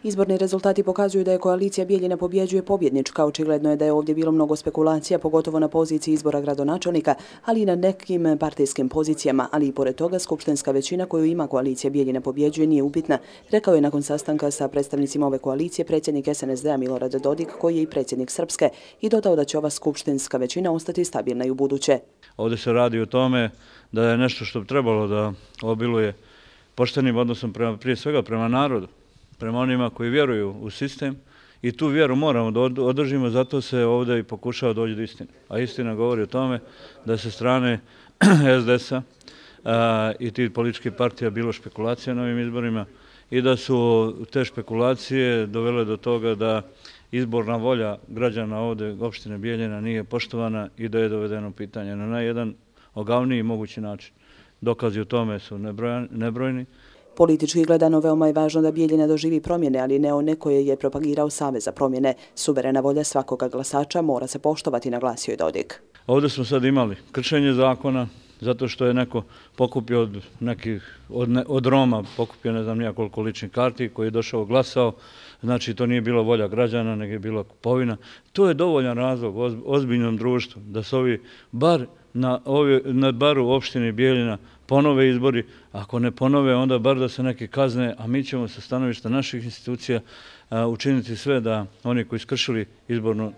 Izborni rezultati pokazuju da je koalicija Bijeljina pobjeđuje pobjednička. Očigledno je da je ovdje bilo mnogo spekulacija, pogotovo na poziciji izbora gradonačelnika, ali i na nekim partijskim pozicijama, ali i pored toga skupštinska većina koju ima koalicija Bijeljina pobjeđuje nije upitna, rekao je nakon sastanka sa predstavnicima ove koalicije predsjednik SNSD-a Milorad Dodik, koji je i predsjednik Srpske, i dodao da će ova skupštinska većina ostati stabilna i u buduće. Ovdje se radi o tome da je nešto što bi trebalo da obiluje poštenim odnosom prije svega prema narodu, prema onima koji vjeruju u sistem, i tu vjeru moramo da održimo, zato se ovdje i pokušava doći do istine. A istina govori o tome da se strane SDS-a i tih političkih partija bilo špekulacija na ovim izborima i da su te špekulacije dovele do toga da izborna volja građana ovdje opštine Bijeljina nije poštovana i da je dovedeno pitanje na jedan ogavniji mogući način. Dokazi o tome su nebrojni. Politički gledano veoma je važno da Bijeljina doživi promjene, ali ne one koje je propagirao Savez za promjene. Suverena volja svakoga glasača mora se poštovati, naglasio je Dodik. Ovdje smo sad imali kršenje zakona, zato što je neko pokupio od Roma, pokupio ne znam nijakoliko ličnih karti, koji je došao glasao. Znači, to nije bila volja građana, nego je bila kupovina. To je dovoljan razlog ozbiljnom društvu da se ovi bar u opštini Bijeljina ponove izbori. Ako ne ponove, onda bar da se neki kazne, a mi ćemo sa stanovišta naših institucija učiniti sve da oni koji skršili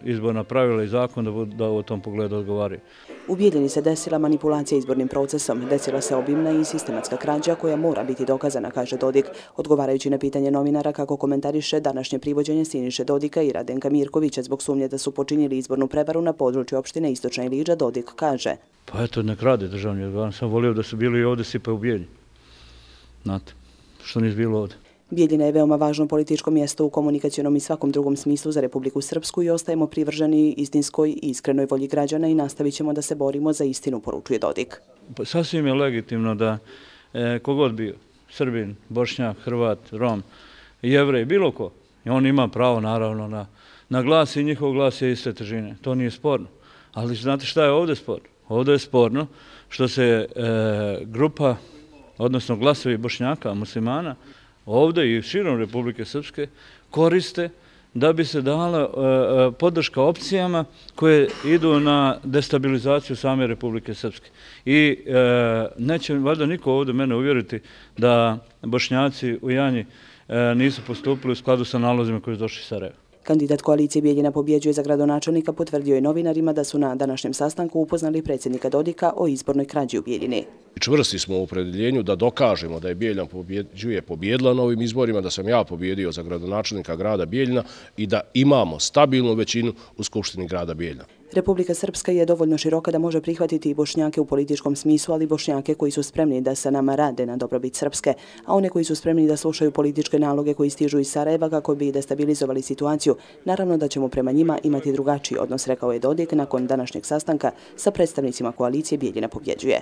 izborna pravila i zakon da u tom pogledu odgovaraju. U Bijeljini se desila manipulacija izbornim procesom. Desila se obimna i sistematska krađa koja mora biti dokazana, kaže Dodik. Odgovarajući na pitanje novinara kako komentariše današnje privođenje Siniše Dodika i Radenka Mirkovića zbog sumnje da su počinili izbornu prevaru na području opštine Istočna Ilidža, Dodik kaže: Pa eto, nek rade državni organ. Sam volio da su bili i ovdje, sipaju u Bijeljini. Znate, što nisu bilo ovdje. Bijeljina je veoma važno političko mjesto u komunikacionom i svakom drugom smislu za Republiku Srpsku i ostajemo privrženi istinskoj i iskrenoj volji građana i nastavit ćemo da se borimo za istinu, poručuje Dodik. Sasvim je legitimno da kogod bio, Srbin, Bošnjak, Hrvat, Rom, Jevrej, bilo ko, on ima pravo naravno na glas i njihov glas je iste težine. To nije sporno. Ali znate šta je ovdje sporno? Ovdje je sporno što se grupa, odnosno glasovi Bošnjaka, muslimana, ovdje i širom Republike Srpske koriste da bi se dala podrška opcijama koje idu na destabilizaciju same Republike Srpske. I neće valjda niko ovdje mene uvjeriti da Bošnjaci u Janji nisu postupili u skladu sa nalozima koji su došli iz Sarajeva. Kandidat koalicije Bijeljina pobjeđuje za gradonačelnika potvrdio je novinarima da su na današnjem sastanku upoznali predsjednika Dodika o izbornoj krađi u Bijeljini. Čvrsti smo u opredjeljenju da dokažemo da je Bijeljina pobjedila na ovim izborima, da sam ja pobjedio za gradonačelnika grada Bijeljina i da imamo stabilnu većinu u Skupštini grada Bijeljina. Republika Srpska je dovoljno široka da može prihvatiti i Bošnjake u političkom smislu, ali Bošnjake koji su spremni da sa nama rade na dobrobit Srpske, a one koji su spremni da slušaju političke naloge koji stižu iz Sarajeva kako bi destabilizovali situaciju, naravno da ćemo prema njima imati drugačiji odnos, rekao je Dodik nakon današnjeg sastanka sa predstavnicima koalicije Bijeljina pobjeđuje.